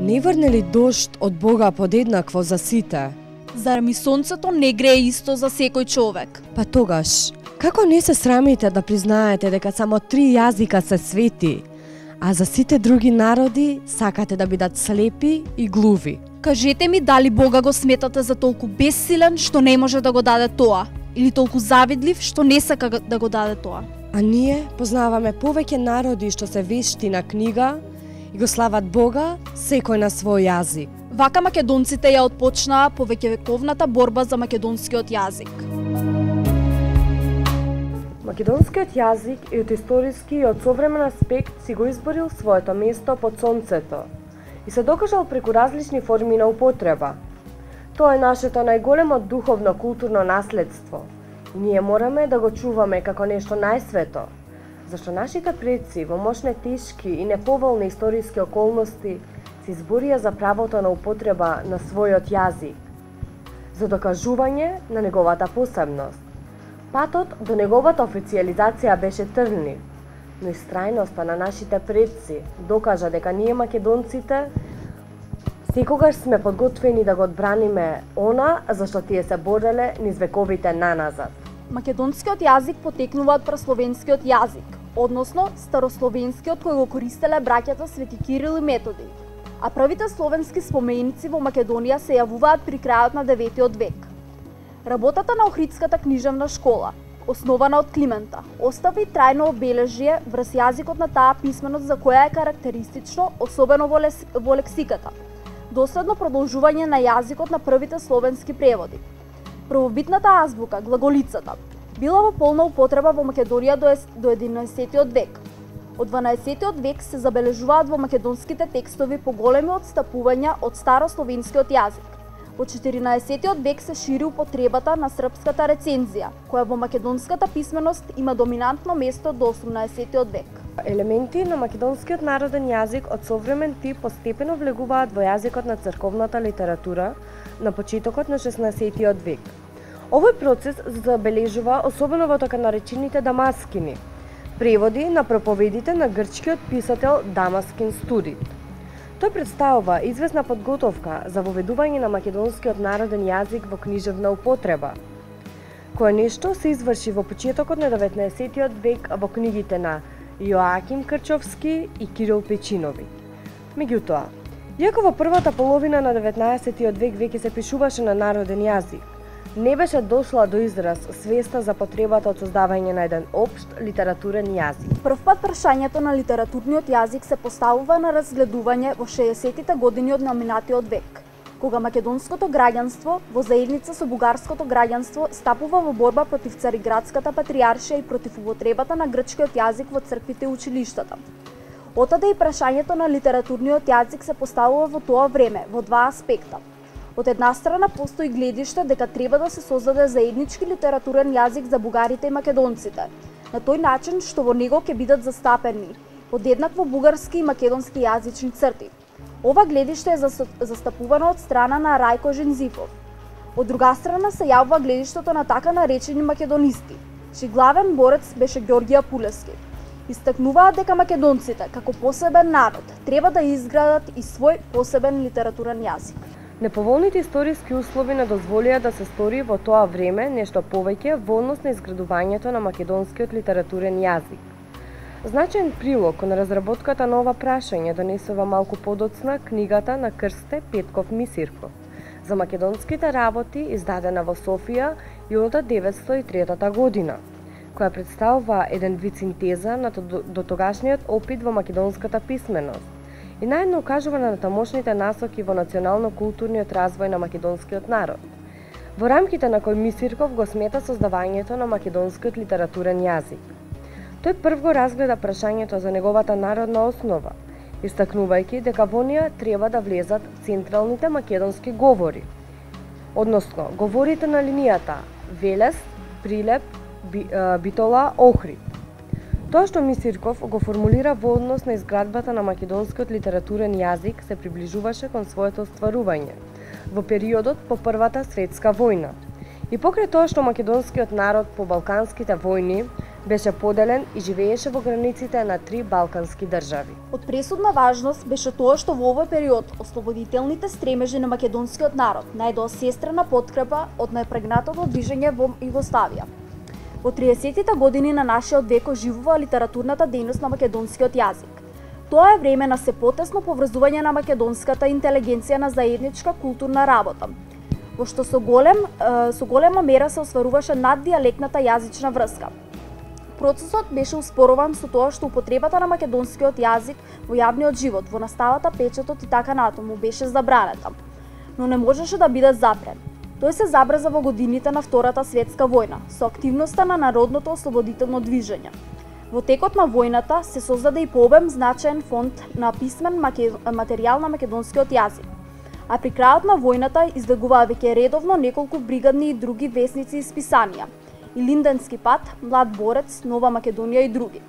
Не врне ли дожд од Бога подеднакво за сите? Зар ми сонцето не грее исто за секој човек? Па тогаш, како не се срамите да признаете дека само 3 јазика се свети, а за сите други народи сакате да бидат слепи и глуви? Кажете ми дали Бога го сметате за толку бессилен што не може да го даде тоа, или толку завидлив што не сака да го даде тоа? А ние познаваме повеќе народи што се вешти на книга и го слават Бога секој на свој јазик. Вака македонците ја отпочнаа повеќевековната борба за македонскиот јазик. Македонскиот јазик и од историски и од современ аспект си го изборил своето место под сонцето и се докажал преку различни форми на употреба. Тоа е нашето најголемо духовно културно наследство и ние мораме да го чуваме како нешто најсвето, зашто нашите предци во мошне тешки и неповолни историски околности се изборија за правото на употреба на својот јазик, за докажување на неговата посебност. Патот до неговата официализација беше трнлив, но истрајноста на нашите предци докажа дека ние македонците секогаш сме подготвени да го одбраниме она за што тие се бореле низ вековите наназад. Македонскиот јазик потекнува од прасловенскиот јазик, односно старословенскиот кој го користеле браќата Свети Кирил и Методи, а првите словенски споменици во Македонија се јавуваат при крајот на 9 век. Работата на Охридската книжевна школа, основана од Климента, остави трајно обележје врз јазикот на таа писменост за која е карактеристично, особено во лексиката, доследно продолжување на јазикот на првите словенски преводи. Првобитната азбука, глаголицата, била во полна употреба во Македонија до 11 век. Од 12 век се забележуваат во македонските текстови поголеми отстапувања од старословенскиот јазик. Во 14 век се шири употребата на српската рецензија, која во македонската писменост има доминантно место до 18 век. Елементи на македонскиот народен јазик од современ тип постепено влегуваат во јазикот на црковната литература на почетокот на 16 век. Овој процес забележува особено во така наречените дамаскини, преводи на проповедите на грчкиот писател Дамаскин Студит. Тој представува известна подготовка за воведување на македонскиот народен јазик во книжевна употреба, кое нешто се изврши во почетокот на 19 век во книгите на Јоаким Крчовски и Кирил Печинови. Меѓутоа, иако во првата половина на 19 век веќе се пишуваше на народен јазик, не беше дошла до израз свеста за потребата од создавање на еден општ литературен јазик. Првпат прашањето на литературниот јазик се поставува на разгледување во 60-тите години од наминатиот век, кога македонското граѓанство во заедница со бугарското граѓанство стапува во борба против Цариградската патријаршија и против употребата на грчкиот јазик во црквите и училиштата. Отаде и прашањето на литературниот јазик се поставува во тоа време во два аспекта. Од една страна постои гледиште дека треба да се создаде заеднички литературен јазик за бугарите и македонците, на тој начин што во него ќе бидат застапени подеднакво бугарски и македонски јазични црти. Ова гледиште е застапувано од страна на Рајко Жензифов. Од друга страна се јавува гледиштето на така наречени македонисти, чиј главен борец беше Ѓорѓи Апулески. Истакнуваат дека македонците, како посебен народ, треба да изградат и свој посебен литературен јазик. Неповолните историски услови не дозволија да се стори во тоа време нешто повеќе во однос на изградувањето на македонскиот литературен јазик. Значаен прилог кон разработката на ова прашање донесува малку подоцна книгата на Крсте Петков Мисирков за македонските работи, издадена во Софија јода 1903 година, која представува еден вид синтеза на дотогашниот опит во македонската писменост и наедно укажува на тамошните насоки во национално-културниот развој на македонскиот народ, во рамките на кој Мисирков го смета создавањето на македонскиот литературен јазик. Тој прв го разгледа прашањето за неговата народна основа, истакнувајќи дека во неа треба да влезат централните македонски говори, односно говорите на линијата Велес, Прилеп, Битола, Охрид. Тоа што Мисирков го формулира во однос на изградбата на македонскиот литературен јазик се приближуваше кон своето остварување во периодот по Првата светска војна. И покрај тоа што македонскиот народ по балканските војни Беше поделен и живееше во границите на 3 балкански држави. Од пресудна важност беше тоа што во овој период ослободителните стремежи на македонскиот народ најдоа сестрена подкрепа од најпрегнатото движење во Југославија. Во 30-тите години на нашиот век оживува литературната дејност на македонскиот јазик. Тоа е време на се потесно поврзување на македонската интелигенција на заедничка културна работа, во што со голема мера се остваруваше наддиалектната јазична врска. Процесот беше успорован со тоа што употребата на македонскиот јазик во јавниот живот, во наставата, печатот и така натаму беше забранета, но не можеше да биде запрен. Тој се забрза во годините на Втората светска војна, со активноста на народното ослободително движење. Во текот на војната се создаде и по обем значаен фонд на писмен материјал на македонскиот јазик. А при крајот на војната излегуваа веќе редовно неколку бригадни и други весници и списанија, и Линденски пат, Млад борец, Нова Македонија и други.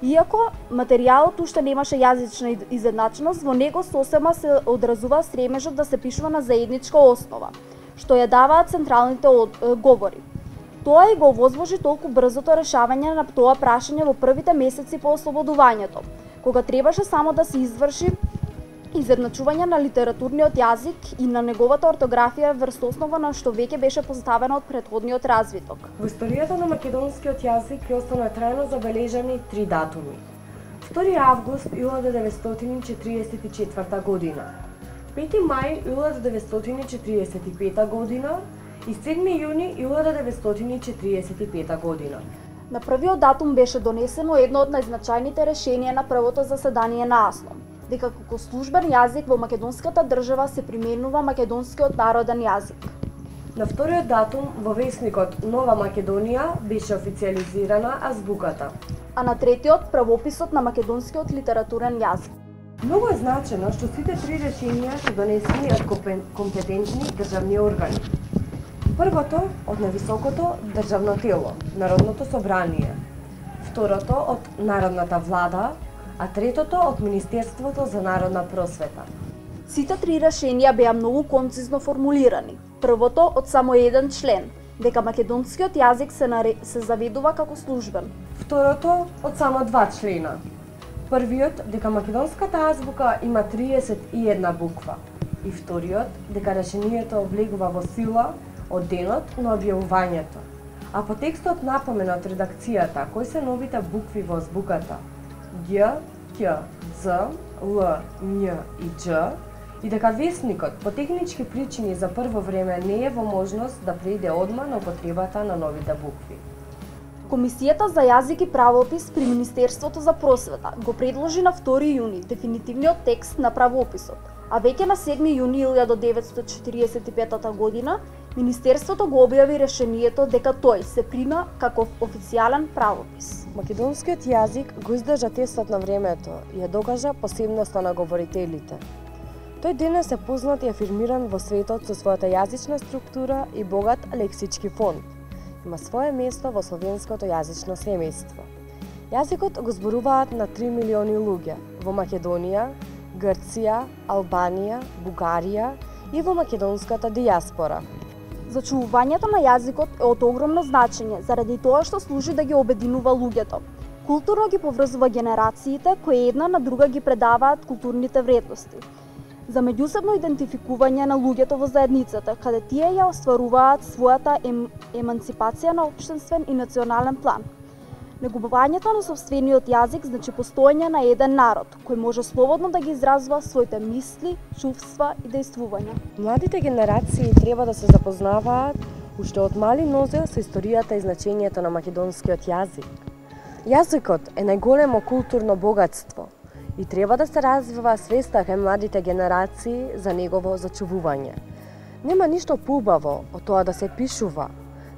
Иако материјалот уште немаше јазична изедначеност, во него сосема се одразува стремежот да се пишува на заедничка основа, што ја даваат централните говори. Тоа и го овозможи толку брзото решавање на тоа прашање во првите месеци по ослободувањето, кога требаше само да се изврши изедначување на литературниот јазик и на неговата ортографија врз основа на што веќе беше поставено од претходниот развиток. Во историјата на македонскиот јазик ќе останат трајно забележани 3 датуми. 2 август 1944 година, 5 мај 1945 година и 7 јуни 1945 година. На првиот датум беше донесено едно од најзначајните решенија на првото заседание на АСНОМ, дека како службен јазик во македонската држава се применува македонскиот народен јазик. На вториот датум во весникот Нова Македонија беше официјализирана азбуката. А на третиот правописот на македонскиот литературен јазик. Многу е значено што сите 3 решенија се донесени од компетентни државни органи. Првото од највисокото државно тело, Народното собрание, второто од Народната влада, а третото од Министерството за народна просвета. Сите 3 решенија беа многу концизно формулирани. Првото од само еден член, дека македонскиот јазик се заведува како службен. Второто од само 2 члена. Првиот дека македонската азбука има 31 буква и вториот дека решението влегува во сила од денот на објавувањето. А по текстот напомена од редакцијата кои се новите букви во азбуката Г, Ќ, З, Л, Њ и Дж, и дека весникот по технички причини за прво време не е во можност да преиде одма на употребата на новите букви. Комисијата за јазик и правопис при Министерството за просвета го предложи на 2 јуни дефинитивниот текст на правописот, а веќе на 7 јуни 1945 година Министерството го објави решението дека тој се прима како официјален правопис. Македонскиот јазик го издржа тестот на времето и ја докажа посебноста на говорителите. Тој денес е познат и афирмиран во светот со својата јазична структура и богат лексички фонд. Има свое место во словенското јазично семејство. Јазикот го зборуваат на 3 милиони луѓе во Македонија, Грција, Албанија, Бугарија и во македонската дијаспора. Зачувувањето на јазикот е од огромно значење заради тоа што служи да ги обединува луѓето. Културно ги поврзува генерациите кои една на друга ги предаваат културните вредности. За меѓусебно идентификување на луѓето во заедницата, каде тие ја остваруваат својата еманципација на општествен и национален план. Негубувањето на сопствениот јазик значи постоење на еден народ, кој може слободно да ги изразува своите мисли, чувства и дејствувања. Младите генерации треба да се запознаваат уште од мали нозе со историјата и значењето на македонскиот јазик. Јазикот е најголемо културно богатство и треба да се развива свеста кај младите генерации за негово зачувување. Нема ништо поубаво од тоа да се пишува,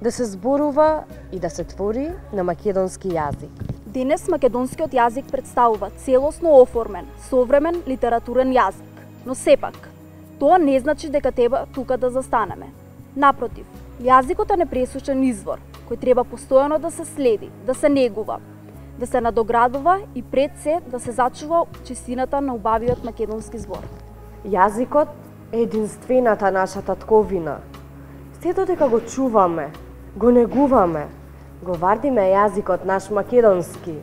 да се зборува и да се твори на македонски јазик. Денес македонскиот јазик представува целосно оформен, современ литературен јазик, но сепак, тоа не значи дека треба тука да застанеме. Напротив, јазикот е непресушен извор, кој треба постојано да се следи, да се негува, да се надоградува и пред се да се зачува чистината на убавиот македонски збор. Јазикот е единствената наша татковина. Сето дека го чуваме, го негуваме, Го вардиме јазикот наш македонски.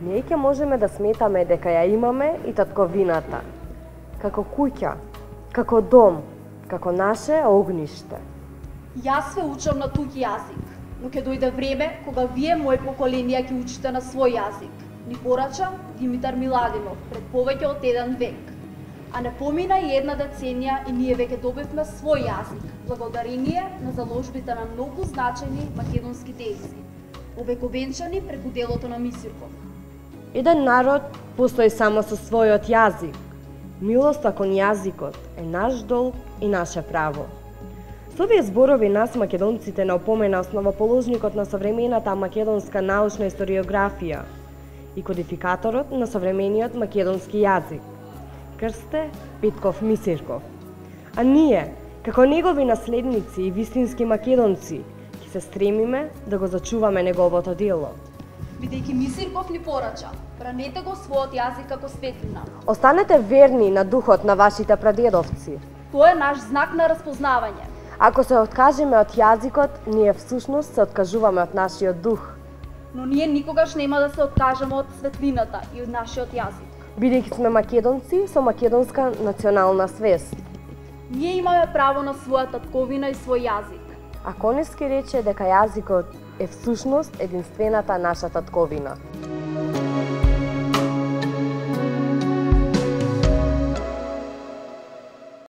Ние ќе можеме да сметаме дека ја имаме и татковината. Како куќа, како дом, како наше огниште. Јас ве учам на туѓ јазик, но ќе дојде време кога вие, мој поколенија, ќе учите на свој јазик. Ни порача Димитар Миладинов пред повеќе од 1 век. А не помина и 1 деценија и ние веќе добивме свој јазик, благодарение на заложбите на многу значајни македонски дејци, овековенчани преку делото на Мисирков. Еден народ постои само со својот јазик. Милоста кон јазикот е наш долг и наше право. Со овие зборови нас, македонците, не опомена основоположникот на современата македонска научна историографија и кодификаторот на современиот македонски јазик, Крсте Петков Мисирков. А ние, како негови наследници и вистински македонци, ќе се стремиме да го зачуваме неговото дело. Бидејќи Мисирков ни порача, бранете го својот јазик како светлина. Останете верни на духот на вашите прадедовци. Тоа е наш знак на распознавање. Ако се откажеме од јазикот, ние всушност се откажуваме од нашиот дух. Но ние никогаш нема да се откажеме од светлината и од нашиот јазик. Бидејќи сме македонци со македонска национална свест. Ние имаме право на своја татковина и свој јазик. А Коневски рече дека јазикот е всушност единствената наша татковина.